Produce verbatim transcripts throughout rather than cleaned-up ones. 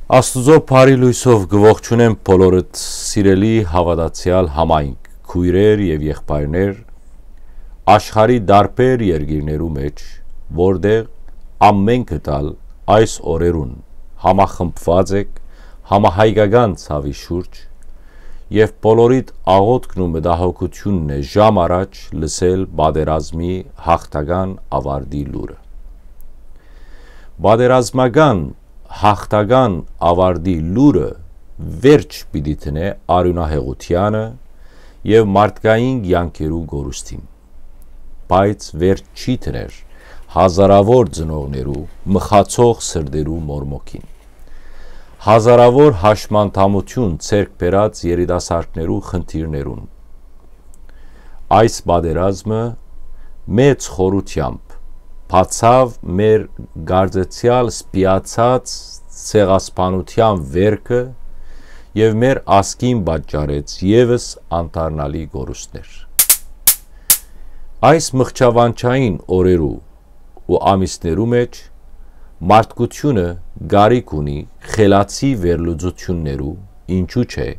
Աստուծոյ բարի լոյսով կը ողջունեմ բոլորդ, սիրելի հաւատացեալ համայնք, քոյրեր եւ եղբայրներ, աշխարհի տարբեր երկիրներու մէջ, որտեղ ամէնքդ ալ այս օրերուն համախմբուած էք համահայկական ցաւի շուրջ, եւ բոլորիդ աղօթքն ու մտահոգութիւնն է ժամ առաջ լսել պատերազմի յաղթական աւարտի լուրը։ Պատերազմական յաղթական աւարտի լուրը վերջ պիտի դնէ արիւնահեղութեանը եւ մարդկային կեանքերու կորուստին, բայց վերջ չի դներ հազարաւոր ծնողներու մխացող սրտերու մորմոքին, հազարաւոր հաշմանդամութիւն ձեռք բերած երիտասարդներու խնդիրներուն։ Այս պատերազմը մեծ խորութեամբ բացաւ մեր կարծեցեալ սպիացած ցեղասպանութեան վերքը եւ մեր ազգին պատճառեց եւս անդառնալի կորուստներ։ Այս մղջավանջային օրերու ու ամիսներու մէջ մարդկութիւնը կարիք ունի խելացի վերլուծութիւններու, ինչու՞ չէ,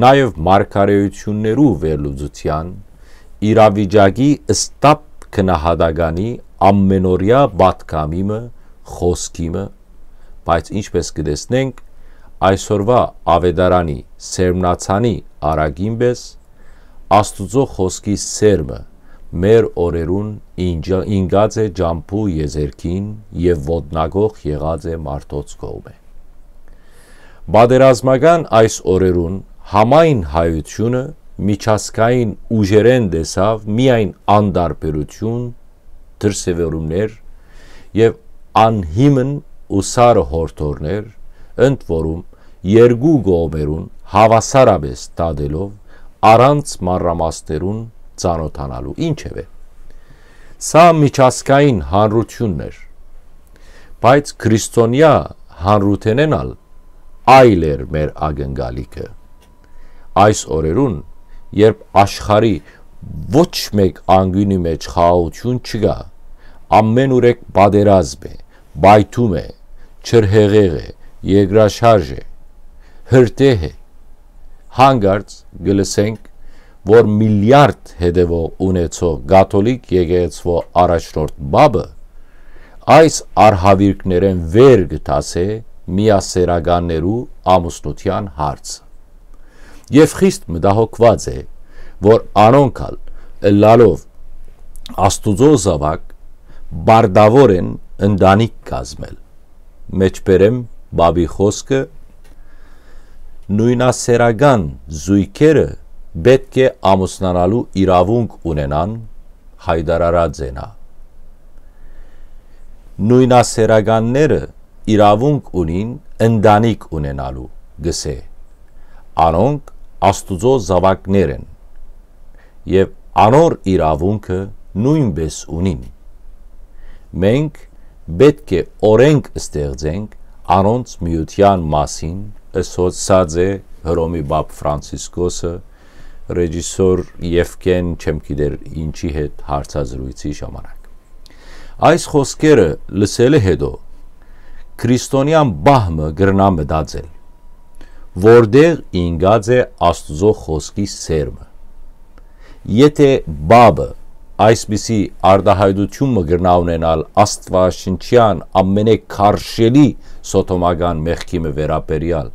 նաեւ մարգարէութիւններու վերլուծութեան, իրավիճակի ստապ գնահատականի ամենօրեայ պատգամի մը, խօսքի մը, բայց ինչպէս կը տեսնենք, այսօրուայ աւետարանի սերմնացանի արագին պէս, Աստուծոյ խօսքի սերմը մեր օրերուն ինջա-, ինկած է ճամբու եզերքին եւ ոտնակոխ եղած է մարդոց կողմէ։ Պատերազմական այս օրերուն համայն հայութիւնը միջազգային ուժերէն տեսաւ միայն անտարբերութիւն, դրսեւորումներ եւ անհիմն ու սառը յորդորներ, ընդ որում երկու կողմերուն հաւասարապէս դատելով, առանց մանրամասներուն ծանօթանալու։ Ինչեւէ, սա միջազգային հանրութիւնն էր, բայց քրիստոնեայ հանրութենէն ալ այլ էր մեր ակնկալիքը։ Այս օրերուն, երբ աշխարհի ոչ մէկ անկիւնի մէջ խաղաղութիւն չկայ, ամէնուրեք պատերազմ է, պայթում է, ջրհեղեղ է, երկրաշարժ է, հրդեհ է, յանկարծ կը լսենք, որ միլիարդ հետեւող ունեցող կաթոլիկ եկեղեցւոյ առաջնորդ պապը այս արհաւիրքներէն վեր կը դասէ միասեռականներու ամուսնութեան հարցը եւ խիստ մտահոգուած է, որ անոնք ալ, ըլլալով Աստուծոյ զաւակ, պարտաւոր են ընտանիք կազմել։ Մէջբերեմ պապի խօսքը. «Նոյնասեռական զոյգերը պէտք է ամուսնանալու իրաւունք ունենան», յայտարարած է նա։ «Նոյնասեռականները իրաւունք ունին ընտանիք ունենալու», կ'ըսէ։ «Անոնք Աստուծոյ զաւակներ են եւ անոր իրաւունքը նոյնպէս ունին։ Մենք պէտք է օրէնք ստեղծենք անոնց միութեան մասին», ըսած է Հռոմի պապ Ֆրանցիսկոսը ռեժիսոր Եվգեն չեմ գիտեր ինչի հետ հարցազրույցի ժամանակ։ Այս խօսքերը լսելէ հետո քրիստոնեան պահ մը կրնայ մտածել, որտեղ ինկած է Աստուծոյ խօսքի սերմը։ Եթէ պապը այսպիսի արտահայտութիւն մը կրնայ ունենալ աստուաշնչեան ամենէ քարշելի սոդոմական մեղքի մը վերաբերեալ,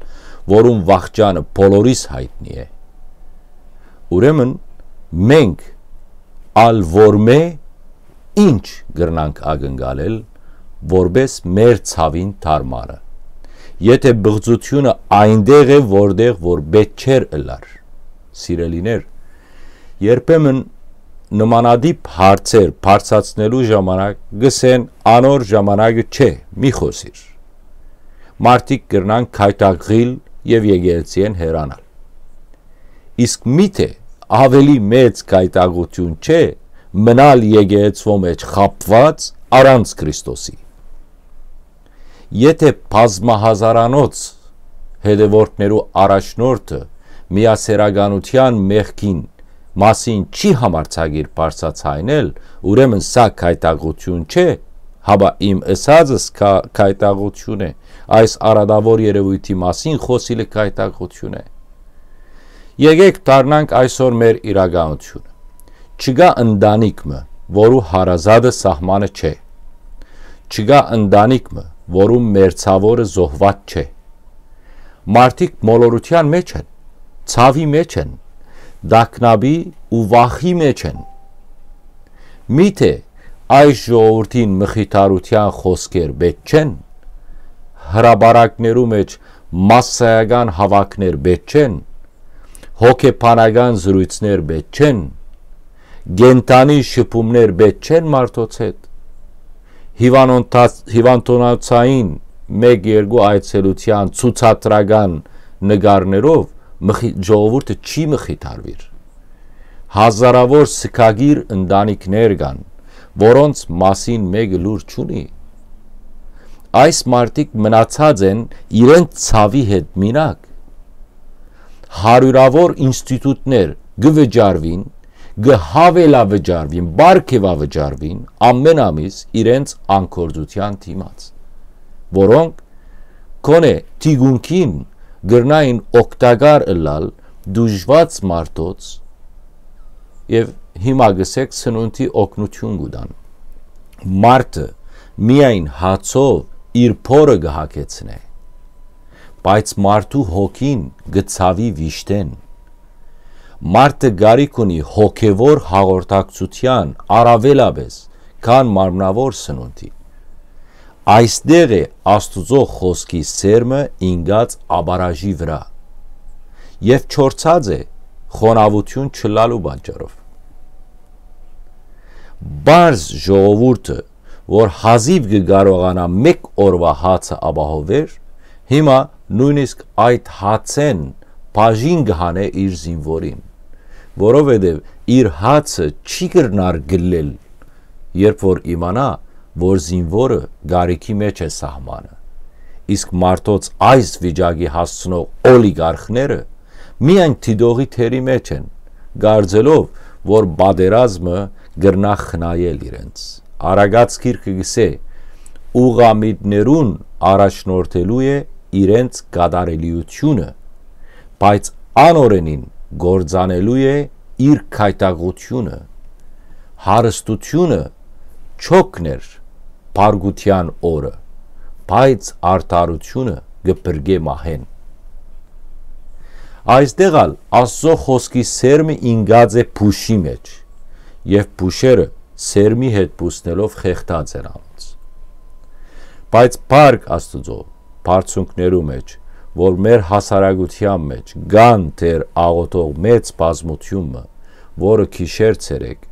որուն վախճանը բոլորիս յայտնի է, ուրեմն մենք ալ որմէ ինչ կրնանք ակնկալել որպէս մեր ցաւին դարմանը, եթէ պղծութիւնը այնտեղ է, որտեղ որ պէտք չէր ըլլար։ Սիրելիներ, երբեմն նմանատիպ հարցեր բարձրացնելու ժամանակ կ'ըսեն. «Անոր ժամանակը չէ, մի խօսիր»։ Մարդիկ կրնան գայթակղիլ եւ եկեղեցիէն հեռանալ։ Իսկ միթէ աւելի մեծ գայթակղութիւն չէ մնալ եկեղեցւոյ մէջ խաբուած առանց Քրիստոսի։ Եթէ բազմահազարանոց հետեւորդներու առաջնորդը միասեռականութեան մեղքին մասին չի համարձակիր բարձրաձայնել, ուրեմն սա գայթակղութիւն չէ, Հապա իմ ըսածս քա-, գայթակղութիւն է, այս արատաւոր երեւոյթի մասին խօսիլը գայթակղութիւն է։ Եկէք դառնանք այսօր մեր իրականութիւնը։ Չկայ ընտանիք մը, որու հարազատը սահմանը չէ։ Չկայ ընտանիք մը, որու մերձաւորը զոհուած չէ։ Մարդիկ մոլորութեան մէջ են, ցաւի մէջ են, տագնապի ու վախի մէջ են։ Միթէ այս ժողովուրդին մխիթարութեան խօսքեր պէտք չեն, հրապարակներու մէջ մասսայական հաւաքներ պէտք չեն, հոգեբանական զրոյցներ պէտք չեն, կենդանի շփումներ պէտք չեն մարդոց հետ, հիվանոնթաց-, հիվանդանոցային մէկ-երկու այցելութեան ցուցադրական նկարներով մխի-, ժողովուրդը չի մխիթարուիր։ Հազարաւոր սգագիր ընտանիքներ կան, որոնց մասին մէկը լուր չունի։ Այս մարդիկ մնացած են իրենց ցաւի հետ մինակ։ Հարիւրաւոր ինստիտուտներ կը վճարուին, կը յաւելավճարուին, պարգեւավճարուին ամէն ամիս իրենց անկործութեան դիմաց, որոնք գոնե թիկունքին կրնային օգտակար ըլլալ դժուժուած մարդոց, եւ հիմա գսեք սնունդի օգնութիւն կու տան։ Մարդը միայն հացով իր փորը կը հագեցնէ, բայց մարդու հոգին կը ցաւի վիշտէն։ Մարդը կարիք ունի հոգեվոր հաղորդակցութեան առաւելապէս, քան մարմնաւոր սնունդի։ Այստեղ է Աստուծոյ խօսքի սերմը ինկած աբարաժի վրայ եւ չորցած է խոնաւութիւն չըլլալու պատճառով։ Պարզ ժողովուրդը, որ հազիւ կը կարողանայ մէկ օրուայ հացը ապահովեր, հիմա նոյնիսկ այդ հացէն բաժին կը հանէ իր զինուորին, որովհետեւ իր հացը չի կրնար գլլել, երբ որ իմանայ, որ զինուորը կարիքի մէջ է սահմանը։ Իսկ մարդոց այս վիճակի հասցնող օլիգարխները միայն դիտողի դերի մէջ են, կարծելով, որ պատերազմը կրնայ խնայել իրենց։ Առակաց գիրքը կ'ըսէ. «Ուղղամիտներուն առաջնորդելու է իրենց կատարելիությունը, բայց անօրենին կործանելու է իր գայթակղությունը։ Հարստությունը չօգներ փառքութեան օրը, բայց արդարությունը կը փրկէ մահէն»։ Այստեղ ալ Աստուծոյ խօսքի սերմը ինկած է փուշի մէջ, եւ փուշերը սերմի հետ բուսնելով խեղդած են անոնց։ Բայց փառք Աստուծոյ, բարձունքներու մէջ, որ մեր հասարակութեան մէջ կան դեռ աղօթող մեծ բազմութիւն մը, որը գիշեր ցերեկ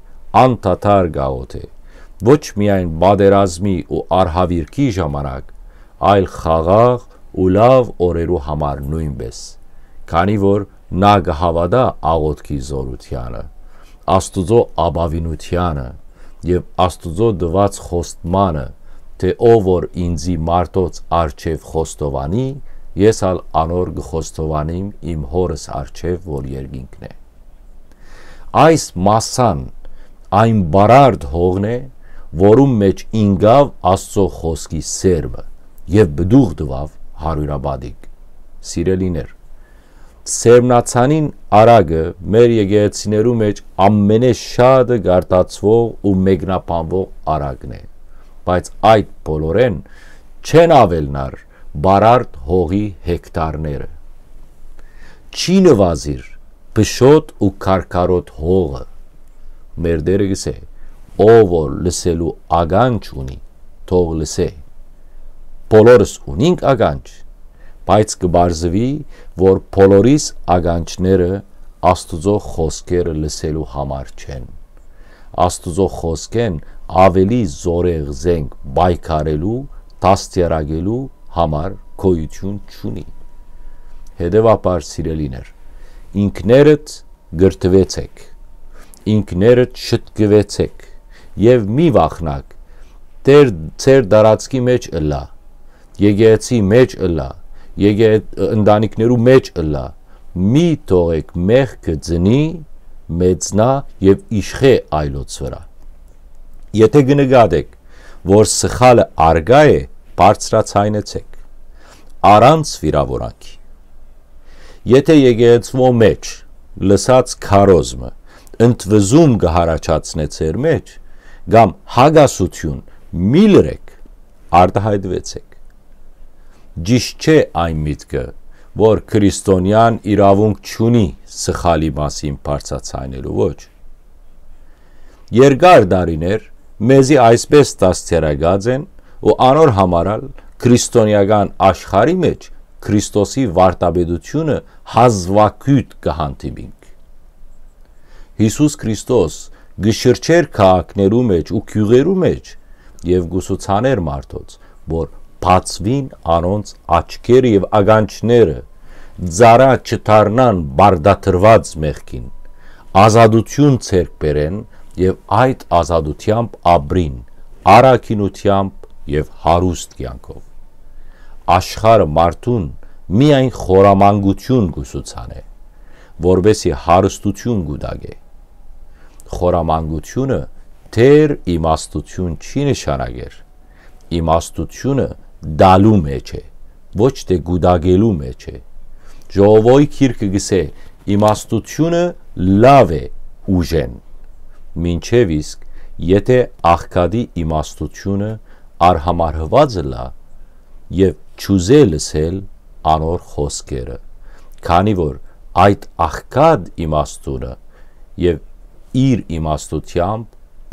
անդադար կ'աղօթէ, ոչ միայն պատերազմի ու արհավիրքի ժամանակ, այլ խաղաղ ու լաւ օրերու համար նոյնպէս, քանի որ նա կը հաւատայ աղօթքի զօրութեանը, Աստուծոյ ապաւինութեանը եւ Աստուծոյ տուած խոստմանը, թէ «Ով որ ինծի մարդոց առջեւ խոստովանի, ես ալ անոր կը խոստովանիմ իմ Հօրս առջեւ, որ երկինքն է»։ Այս մասսան այն բարարդ հողն է, որուն մէջ ինկաւ Աստուծոյ խօսքի սերմը եւ պտուղ տուաւ հարիւրապատիկ։ Սիրելիներ, սերմնացանին առակը մեր եկեղեցիներու մէջ ամենէ շատը գարտացուող ու մեկնաբանուող առակն է, բայց այդ բոլորէն չեն աւելնար բարարդ հողի հեկտարները։ Չի նուազիր փշոտ ու քարքարոտ հողը։ Մեր Տէրը կ'ըսէ. «Ով որ լսելու ականջ ունի, թող լսէ»։ Բոլորս ունինք ականջ, բայց կը պարզուի, որ բոլորիս ականջները Աստուծոյ խօսքերը լսելու համար չեն։ Աստուծոյ խօսքէն աւելի զօրեղ զենք պայքարելու, դաստիարակելու համար գոյութիւն չունի։ Հետեւաբար, սիրելիներ, ինքներդ կրթուեցեք, ինքներդ շտկուեցեք եւ մի վախնաք, Տէր, ձեր տարածքի մէջ ըլլայ, եկեղեցի մէջ ըլլայ, եկե-, ընտանիքներու մէջ ըլլայ, մի թողէք մեղքը ծնի, մեծնայ եւ իշխէ այլոց վրայ։ Եթէ կը նկատէք, որ սխալը արկայ է, բարձրաձայնեցէք, առանց վիրաւորանքի։ Եթէ եկեղեցւոյ մէջ լսած քարոզմը ընդվզում կը յառաջացնէ ձեր մէջ, կամ հակասութիւն, մի լրեք, արտայայտուեցէք։ Ճիշդ չէ այն միտքը, որ քրիստոնեան իրաւունք չունի սխալի մասին բարձրաձայնելու, ոչ։ Երկար տարիներ մեզի այսպէս դաստիարակած են ու անոր համար ալ քրիստոնեական աշխարհի մէջ Քրիստոսի վարդապետութիւնը հազուագիւտ կը հանդիպինք։ Յիսուս Քրիստոս կը շրջէր քաղաքներու մէջ ու գիւղերու մէջ եւ կուսուցաներ մարդոց, որ բացուին անոնց աչքերը եւ ականջները, ծառայ չդառնան բարդատրուած մեղքին, ազատութիւն ձեռք բերեն եւ այդ ազատութեամբ ապրին առաքինութեամբ եւ հարուստ կեանքով։ Աշխարհը մարդուն միայն խորամանկութիւն կուսուցանէ, որպեսզի հարստութիւն կուտակէ։ Խորամանկութիւնը դեռ իմաստութիւն չի նշանակեր։ Իմաստութիւնը տալու մէջ է, ոչ թէ կուտակելու մէջ է։ Ժողովոյ գիրքը կ'ըսէ. «Իմաստութիւնը լաւ է ուժէն», մինչեւ իսկ եթէ աղքատի իմաստութիւնը արհամարհուած ըլլայ եւ չուզէ լսել անոր խօսքերը, քանի որ այդ աղքատ իմաստունը եւ իր իմաստութեամբ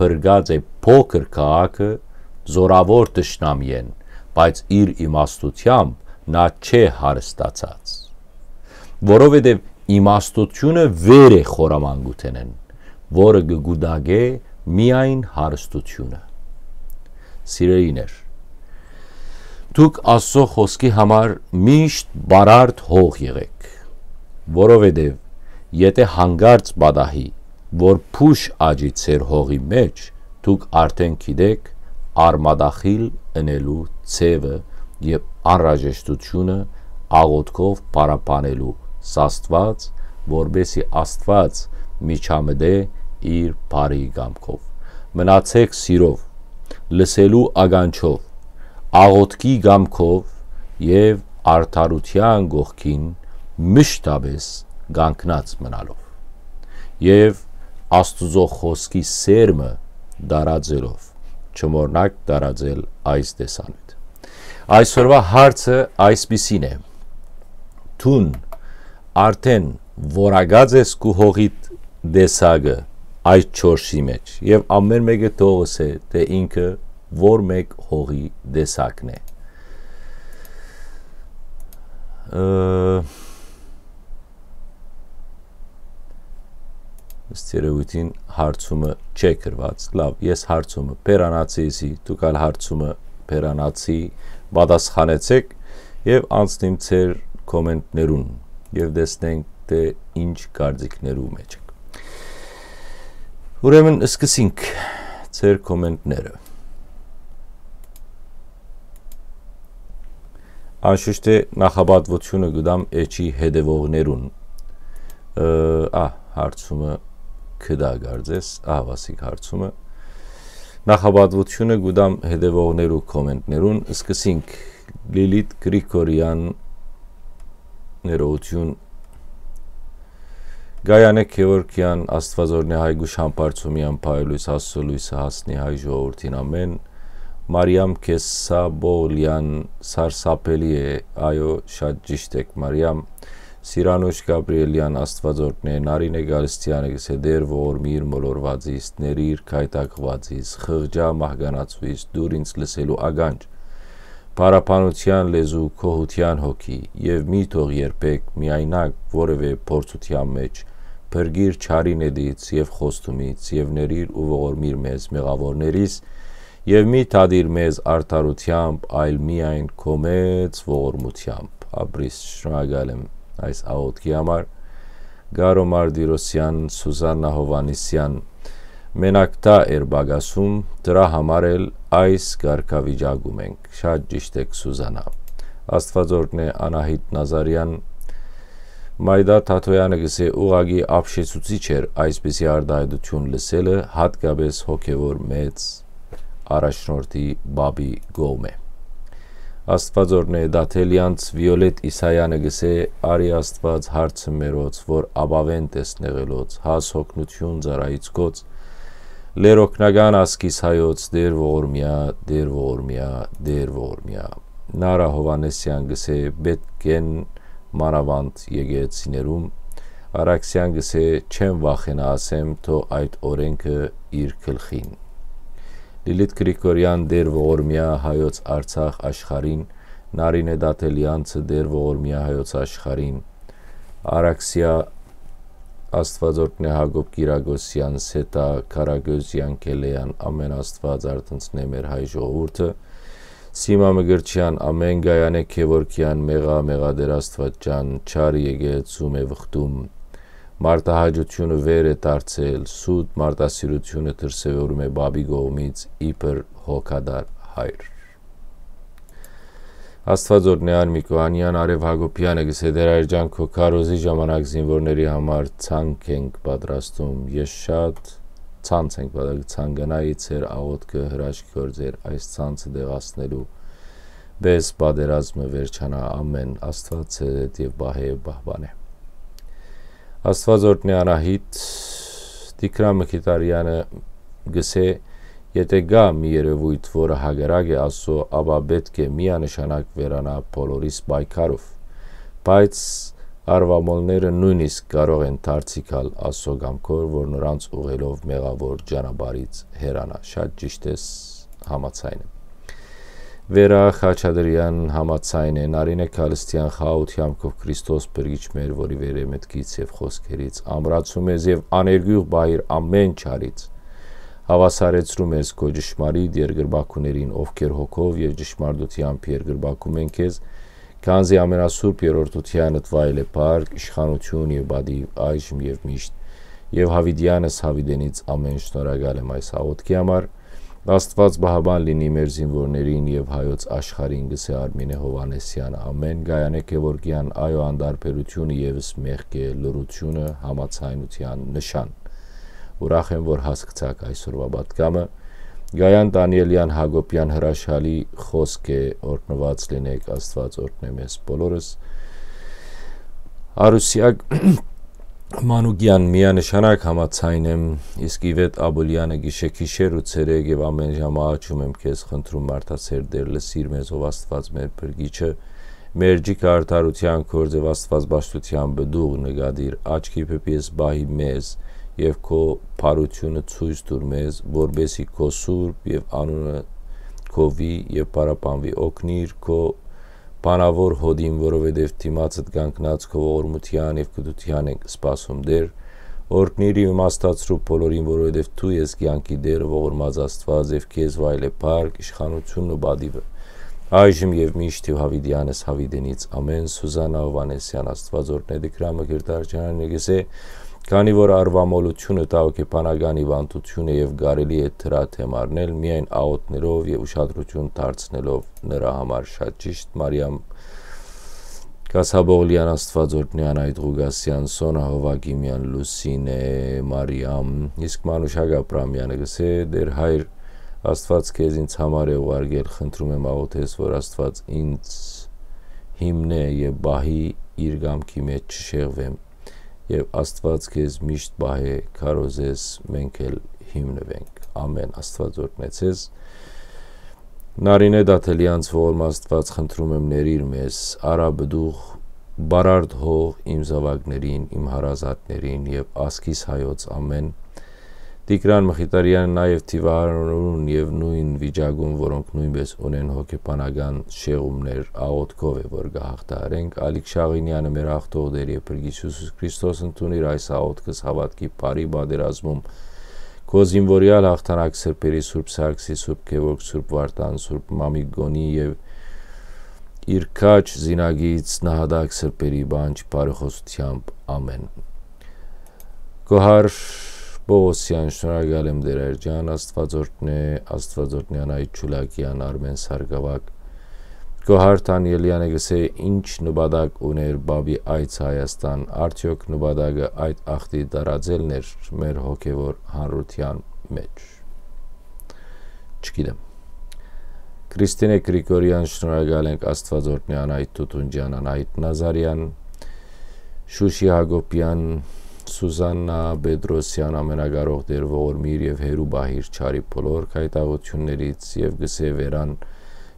փրկած է փոքր քաղաքը զօրաւոր թշնամիէն, բայց իր իմաստութեամբ նա չէ հարստացած, որովհետեւ իմաստութիւնը վեր է խորամանկութենէն, որը կը կուտակէ միայն հարստութիւնը։ Սիրելիներ, դուք Աստծո խօսքի համար միշտ բարարդ հող եղէք, որովհետեւ եթէ յանկարծ պատահի, որ փուշ աճի ձեր հողի մէջ, դուք արդէն գիտէք արմատախիլ ընելու ձեւը եւ անհրաժեշտութիւնը աղօթքով փառաբանելու Աստուած, որպեսզի Աստուած միջամտէ իր բարի կամքով։ Մնացեք սիրով, լսելու ականջով, աղօթքի կամքով եւ արդարութեան կողքին մշտապէս կանգնած մնալով եւ Աստուծոյ խօսքի սերմը տարածելով, չմոռնաք տարածել այս տեսանիւթ։ Այսօրուայ հարցը այսպիսին է. դուն արդէն որակած ես քու հողիդ տեսակը այդ չորսի մէջ, եւ ամէն մէկը թող ըսէ, թէ ինքը որ մէկ հողի տեսակն է։ Ը, ըստ երեւոյթին հարցումը չէ գրված։ Լաւ, ես հարցումը բերանացի, եսի, դուք ալ հարցումը բերանացի, պատասխանեցէք եւ անցնիմ ձեր կոմենտներուն եւ տեսնենք, թէ ինչ կարծիքներու մէջ եք։ Ուրեմն, սկսենք ձեր կոմենտները։ Անշուշտ է, նախապատվությունը կու տամ էջի հետեւողներուն։ Ը, ա, հարցումը կդա կարծես, ահա, Վասիկ, հարցումը։ Նախապատվությունը կու տամ հետեւողներու կոմենտներուն, սկսենք Լիլիթ Գրիգորեան ներողություն, Գայանե Գեորգեան, Աստուածօրհնի հայ գուշ համբարձումի անփայլ լոյս, Աստծո լոյսը հասնի հայ ժողովրդին ամէն, Մարիամ Քեսսաբոլեան, սարսափելի է, այո, շատ ճիշտ եք, Մարիամ, Սիրանուշ Գաբրիելեան, Աստուածօրհնի, Նարինե Գալստեանը կ'ըսէ. «Տէր, ողորմիր մոլորուածիս, ներիր քայթակղուածիս, խղճայ մահկանացուիս, տուր ինձ լսելու ականջ, փառաբանութեան լեզու, գոհութեան հոգի, եւ մի թող երբեք միայնակ որեւէ փորձութեան մէջ, փրկիր չարին ետից եւ խոստումից, եւ ներիր ու ողորմիր մեզ մեղաւորներիս, եւ մի դատիր մեզ արդարութեամբ, այլ միայն քո մեծ ողորմութեամբ»։ Ապրիս, շնորհակալ եմ այս աղօթքի համար։ Գարո Մարտիրոսեան, Սուզաննա Հովհաննիսեան, մենակ դա էր պակասում, դրա համար էլ այս կարգավիճակում ենք։ Շատ ճիշտ եք, Սուզանա։ Աստուածօրհնի Անահիտ Նազարեան, Մայդա Թաթոյանը կ'ըսէ. «Ուղղակի ապշեցուցիչ էր այսպիսի արտահայտություն լսելը, հատկապես հոգեվոր մեծ առաջնորդի պապի կողմէ։ Աստուածօրհնէ Դաթելեանց Վիոլետ Իսայանը կ'ըսէ. «Արի Աստուած հարցը մերոց, որ ապաւէն տեսնեղելոց, հաս հոգնութիւն ծառայիցքոց, լերօգնական ասկիս հայոց, Տեր ողորմիա, Տեր ողորմիա, Տեր ողորմիա»։ Նարա Հովհաննեսեան կ'ըսէ. «Պէտք են մանաւանդ եկեղեցիներում»։ Արաքսեան կ'ըսէ. «Չեմ վախենայ, ասեմ, թող այդ օրէնքը իր գլխին»։ Լիլիթ Գրիգորեան. «Տեր ողորմիա հայոց Արցախ աշխարհին»։ Նարինէ Դաթելեանցը. «Տեր ողորմիա հայոց աշխարհին»։ Արաքսեա Աստուածօրհնէ Յակոբ Կիրակոսեան, Սեթա Քարագոզեան, Քելեան, ամէն Աստուած արթնցնէ մեր հայ ժողովուրդը։ Սիմա Մկրտչեան, ամէն, Գայանէ Գեորգեան, մեղա, մեղա Տեր Աստուած ջան, չար եկեղեցում է վխտում։ Մարդահաճությունը վեր է դարձել, սուտ մարդասիրությունը դրսեւորում է պապի կողմից իբր հոգատար հայր»։ Աստուածօրհնեան Միկոյանեան Արեւ Յակոբեանը կ'ըսէ. «Տեր Հայր ջան, քո քարոզի ժամանակ զինուորների համար ցանկ ենք պատրաստում։ Ես շատ ցանց ենք պատրաստում, ցանկանայի ձեր աղօթքը հրաշք գործեր այս ցանցը դեղացնելու, բես պատերազմը վերջանայ, ամէն, Աստուած ձեզեդ եւ պահէ եւ պահպանէ»։ Աստուածօրհնեան Անահիտ Տիգրան Մխիթարեանը կ'ըսէ. «Եթէ կայ մի երեւոյթ, որը հակառակ է Աստծուն, ապա պէտք է միանշանակ վերանայ բոլորիս պայքարով։ Բայց արուամոլները նոյնիսկ կարող են դարձի գալ Աստուծոյ կամքով, որ նորանց ուղղելով մեղաւոր ճանապարհից հեռանայ»։ Շատ ճիշդ ես, համաձայն եմ։ Վերա Խաչատրեան համաձայն է, Նարինե Քալսթեան խաղաղութեամբքով Քրիստոս Փրկիչ մեր, որի վերեմէտքից եւ խօսքերից ամրացում ես եւ աներկիւղ պահիր ամէն չարից, հաւասարեցնում ես քո ճշմարիտ երկրպագուներին, ովքեր հոգով եւ ճշմարտութեամբ երկրպագում են քեզ, քանզի ամենասուրբ երրորդութեանդ վայել է փառք, իշխանութիւն եւ պատիւ այժմ եւ միշտ, եւ յաւիտեանս յաւիտենից ամէն։ Շնորհակալ եմ այս աղօթքի համար։ Աստուած պահապան լինի մեր զինուորներին եւ հայոց աշխարհին, կ'ըսէ Արմինէ Հովհաննեսեանը։ Ամէն։ Գայանէ Գեորգեան. «Այո, անտարբերությունը եւս մեղք է, լռությունը՝ համաձայնութեան նշան»։ Ուրախ եմ, որ հասկցաք այսօրուայ պատգամը։ Գայան Տանիելեան Յակոբեան հրաշալի խօսք է, օրհնուած լինէք, Աստուած օրհնէ մեզ բոլորս։ Արուսեակ Մանուկեան. «Միանշանակ համաձայն եմ, իսկ Իվետ Աբուլեանը. Գիշեր, գիշեր ու ցերեկ եւ ամէն ժամ աղաչում եմ քեզ, խնդրում, մարդասեր Տէր, լսիր մեզ, ով Աստուած մեր Փրկիչը, մեր ջիքը արդարութեան գործ եւ Աստուածպաշտութեան պտուղ նկատիր, աչքի պէս պահի մեզ եւ քո բարությունը ցոյց տուր մեզ, որպէսզի քո սուրբ եւ անունը գովի եւ պարապանուի, օգնիր քո բանաւոր յօդին, որովհետեւ դիմացդ կանգնած քո ողորմութեան եւ կրթութեան ենք սպասում, Տէր։ Օրհնիր ու իմաստացրու բոլորին, որովհետեւ դու ես կեանքի Տէրը, ողորմած Աստուած, եւ քեզ վայել է փառք, իշխանութիւնն ու պատիւը, այժմ եւ միշտ եւ յաւիտեանս յաւիտենից։ Ամէն»։ Սուզաննա Հովհաննեսեան. «Աստուած օրհնէ Տիգրան Մկրտարեանը, կ'ըսէ. քանի որ արուամոլությունը տաոքեբանական հիւանդութիւն է եւ կարելի է դրա դէմ առնել, միայն աղօթքներով եւ ուշադրութիւն դարձնելով նրա համար»։ Շատ ճիշտ, Մարիամ Կասաբօղլեան. «Աստուած օրհնեան Այդ Ղուկասեան, Սոնա Հովակիմեան, Լուսինե Մարիամ»։ Իսկ Մանուշակ Աբրահամեանը կ'ըսէ. «Տէր Հայր, Աստուած քեզ ինձ համար է ուղարկել, խնդրում եմ, աղօթես, որ Աստուած ինձ հիմնէ եւ պահի, իր կամքի մէջ չշեղվեմ, եւ Աստուած քեզ միշտ պահէ, քարոզես, մենք էլ հիմնուենք։ Ամէն»։ Աստուած օրհնե ձեզ։ Նարինե Դաթելեանց. «Ողորմ Աստուած, խնդրում եմ, ներիր մեզ, արա պտուղ, բարարդ հող իմ զաւակներին, իմ հարազատներին եւ ազգիս հայոց ամէն»։ Տիգրան Մխիթարեանը. «Նաեւ դիւահարներուն եւ նոյն վիճակուն, որոնք նոյնպէս ունեն հոգեբանական շեղումներ, աղօթքով է, որ կը հաղթահարենք»։ Ալիք Շաղինեանը. «Մեր հաղթող Տէր եւ Փրկիչ Յիսուս Քրիստոս, ընդունիր այս աղօթքս հաւատքի բարի պատերազմում, քո զինուորեալ յաղթանակ սրբերի, Սուրբ Սարգսի, Սուրբ Գեորգ, Սուրբ Վարդան, Սուրբ Մամիկոնի եւ իր քաջ զինակից նահատակ սրբերի պանջ բարեխօսությամբ։ Ամէն»։ Գոհար Պողոսեան. «Շնորհակալ եմ, Տէր Հայր ջան, Աստուած օրհնէ, Աստուած օրհնեան Այդ Ջուլակեան, Արմէն Սարգսեան»։ Գոհար Դանիելեանը կ'ըսէ. «Ինչ նպատակ ունէր պապի այցը Հայաստան, արդեօք նպատակը այդ ախտի տարածելն էր մեր հոգեւոր հանրութեան մէջ»։ չգիտեմ։ Քրիստինե Գրիգորեան, շնորհակալ ենք, Աստուած օրհնի, Անահիտ Թութունջեան, Անահիտ Նազարեան, Շուշի Յակոբեան, Սուզաննա Պետրոսեան, ամենակարող Տէր, ողորմիր եւ հեռու պահիր չարի բոլոր գայթակղութիւններից, եւ կ'ըսէ Վերան,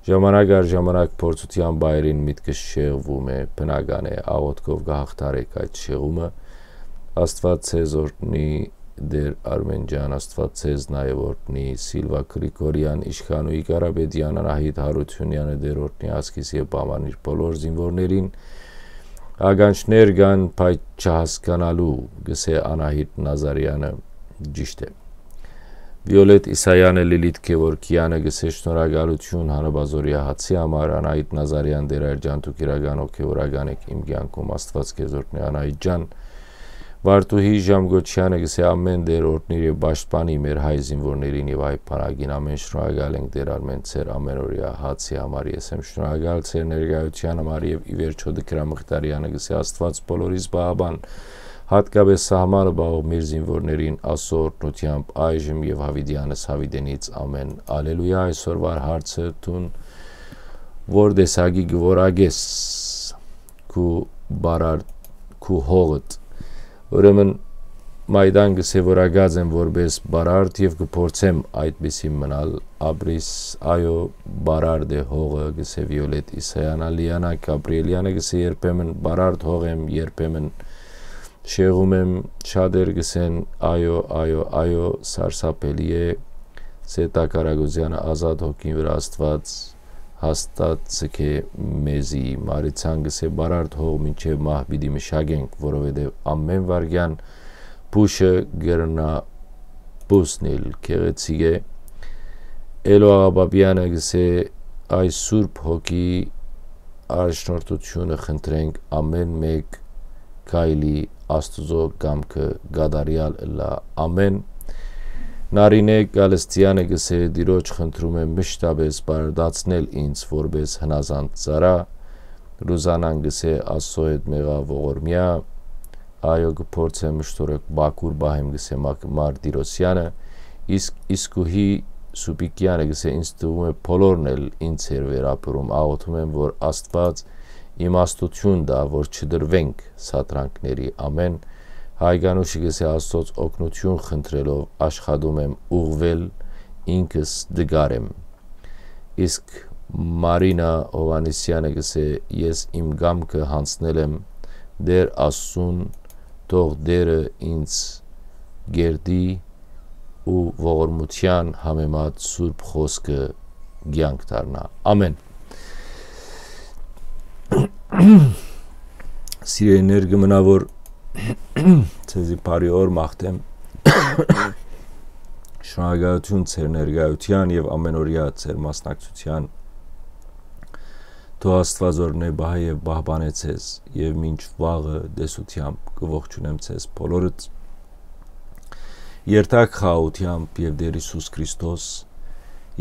ժամանակ առ ժամանակ փորձութեան պահերին միտքս շեղվում է, բնական է, աղօթքով կը հաղթարեք այդ շեղումը։ Աստուած ձեզ օրհնի, Տէր Արմէն ջան, Աստուած ձեզ նաեւ օրհնի, Սիլվա Գրիգորեան, Իշխանուհի Կարապետեան, Անահիտ Յարութիւնեանը, Տէր օրհնի, Ասկիս եւ Պամանիր բոլոր զինուորներին։ Ականջներ կան, բայց չհասկանալու, կ'ըսէ Անահիտ Նազարեանը, ճիշդ է։ Վիոլետ Իսայանը, Լիլիթ Գեորգեանը, կ'ըսէ շնորհակալութիւն Հանրապազօրեայ հացի համար, Անահիտ Նազարեան, Տէր Արգյան, դուք իրական հոգեւորական էք իմ կեանքում, Աստուած քեզ օրհնի, Անահիտ ջան։ Վարդուհի Ժամգոչեանը կ'ըսէ, ամէն Տէր օրհնիր եւ պաշտպանի մեր հայ զինուորներին եւ հայ բանակին, ամէն շնորհակալ ենք Տէր Արմէն ձեր ամէնօրեայ հացի համար, ես եմ շնորհակալ ձեր ներկայութեան համար, եւ ի վերջոյ Տիգրան Մխիթարեանը կ'ըսէ, Աստուած բոլորիս պահապան, յատկապէս սահմանը պահող մեր զինուորներին, Աստուծոյ օրհնութեամբ այժմ եւ յաւիտեանս յաւիտենից, ամէն։ Ալելուիա, այսօրվա հարցը, դուն որ տեսակի կ'որակես քու բարար-, քու հողդ։ Ուրեմն մայդան կ'ըսէ, որ ակած եմ որպէս բարարդ եւ կը փորձեմ այդպիսի մնալ, ապրիս, այո, բարարդ է հողը, կ'ըսէ Վիոլետ Իսայանը, Լիանա Գաբրիելյանը կ'ըսէ, երբեմն բարարդ հող եմ, երբեմն շեղում եմ, շատեր կ'ըսեն, այո, այո, այո, սարսափելի է, Սեդա Կարագոզեանը, Ազատ հոգին վրայ Աստուած հաստատ ձգէ մեզի։ Մարիցան կ'ըսէ, բարարդ հող մինչեւ մահ պիտի մշակենք, որովհետեւ ամէն վայրկեան փուշը կրնայ բուսնիլ, գեղեցիկ է։ Էլո Աղաբաբեանը կ'ըսէ, այս Սուրբ Հոգի առաջնորդութիւնը խնդրենք, ամէն մէկ քայլի Աստուծոյ կամքը կատարեալ ըլլայ, ամէն։ Նարինե Գալստեանը կ'ըսէ, Տիրոջ խնդրում եմ մշտապէս բարդացնել ինձ որպէս հնազանդ ծառայ, Ռուզանան կ'ըսէ, Աստուծոյ հետ մեղաւ ողորմեայ, այո, կը փորձեմ մշտորեք բակուր պահեմ, կ'ըսէ Մակ-, Մարտիրոսեանը, իսկ Իսկուհի Սուպիկեանը կ'ըսէ, ինձ թվում է, բոլորն էլ ինձ էր վերապրում, աղօթում եմ, որ Աստուած իմաստութիւն տայ, որ չդրուենք սադրանքների, ամէն։ Հայկանուշը կ'ըսէ, Աստուծոյ օգնութիւն խնդրելով աշխատում եմ ուղղվել, ինքս դգար եմ։ Իսկ Մարինա Հովհաննիսեանը կ'ըսէ, ես իմ կամքը յանձնել եմ Տէր Աստծուն, թող Տէրը ինձ կերտի ու ողորմութեան համեմատ Սուրբ Խօսքը կեանք դառնայ։ Ամէն։ Սիրելիներ, կը մնայ, որ ձեզի բարի օր մաղթեմ։ Շնորհակալութիւն ձեր ներկայութեան եւ ամէնօրեայ ձեր մասնակցութեան։ Թող Աստուած օրհնէ, պահէ եւ պահպանէ ձեզ, եւ մինչ վաղը տեսութեամբ կը ողջունեմ ձեզ բոլորդ։ Երթաք խաղաղութեամբ, եւ Տէր Յիսուս Քրիստոս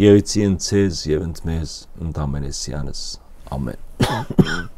եղիցի ընդ ձեզ եւ ընդ մեզ, ընդ ամենեսեանս։ Ամէն։